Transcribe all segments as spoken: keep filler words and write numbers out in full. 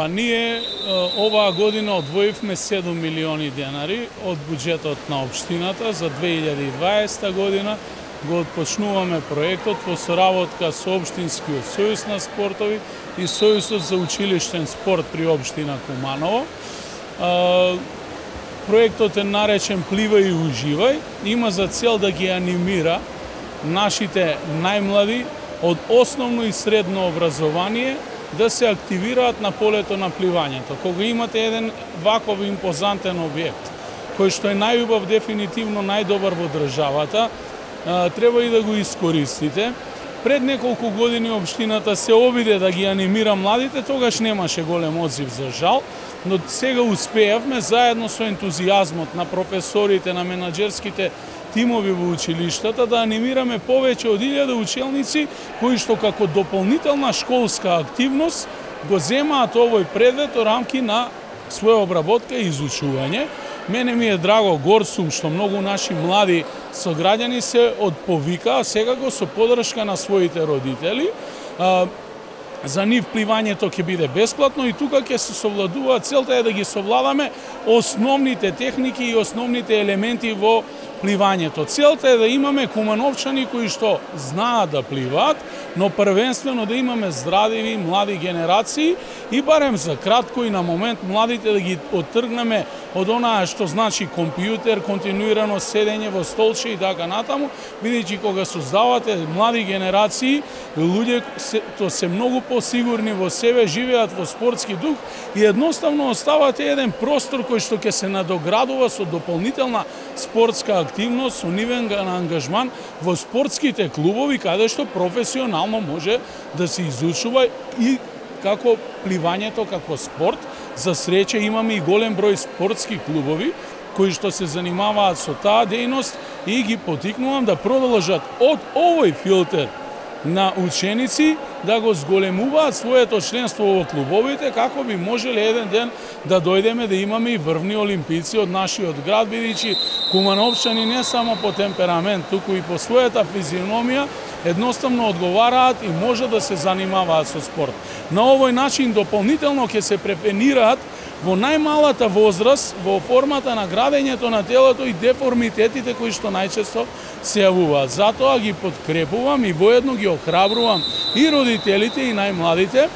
Па ние оваа година одвоивме седум милиони денари од буџетот на општината за две илјади и дваесета година. Го отпочнуваме проектот во соработка со Општинскиот сојуз на спортови и Сојузот за училиштен спорт при општина Куманово. Проектот е наречен Пливај и уживај. Има за цел да ги анимира нашите најмлади од основно и средно образование да се активираат на полето на пливањето. Кога имате еден ваков импозантен објект, кој што е најубав, дефинитивно најдобар во државата, треба и да го искористите. Пред неколку години општината се обиде да ги анимира младите, тогаш немаше голем одзив за жал, но сега успеавме заедно со ентузијазмот на професорите, на менаџерските тимови во училиштата да анимираме повеќе од илјада учелници кои што како дополнителна школска активност го земаат овој предмет во рамки на своја обработка и изучување. Мене ми е драго, гор сум што многу наши млади сограѓани се одповикаа секако со поддршка на своите родители. За нив пливањето ќе биде бесплатно и тука ќе се совладува, целта е да ги совладаме основните техники и основните елементи во пливањето. Целта е да имаме кумановчани кои што знаат да пливаат, но првенствено да имаме здравиви млади генерации и барем за кратко и на момент младите да ги оттргнеме од онаа што значи компјутер, континуирано седење во столче и така натаму, бидејќи кога создавате млади генерации, луѓе што се многу посигурни во себе, живеат во спортски дух и едноставно оставате еден простор кој што ќе се надоградува со дополнителна спортска активност, со нивен ангажман во спортските клубови, каде што професионално може да се изучува и како пливањето како спорт. За среќа имаме и голем број спортски клубови кои што се занимаваат со таа дејност и ги потикнувам да продолжат од овој филтер на ученици да го зголемуваат своето членство во клубовите, како би можеле еден ден да дојдеме да имаме и врвни олимпици од нашиот град, бидејќи кумановчани не само по темперамент, туку и по својата физиономија едноставно одговараат и може да се занимаваат со спорт. На овој начин дополнително ќе се препенираат во најмалата возраст во формата на градењето на телото и деформитетите кои што најчесто се јавуваат. Затоа ги подкрепувам и воедно ги охрабрувам и родителите и најмладите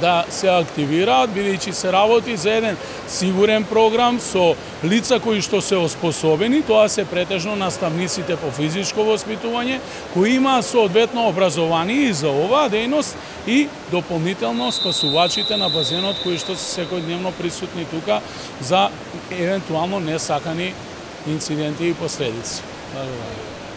да се активираат, бидејќи се работи за еден сигурен програм со лица кои што се оспособени, тоа се претежно наставниците по физичко воспитување, кои имаат соодветно образование и за оваа дејност и дополнително спасувачите на базенот кои што се секојдневно присутни тука за евентуално несакани инциденти и последици. Благодарам.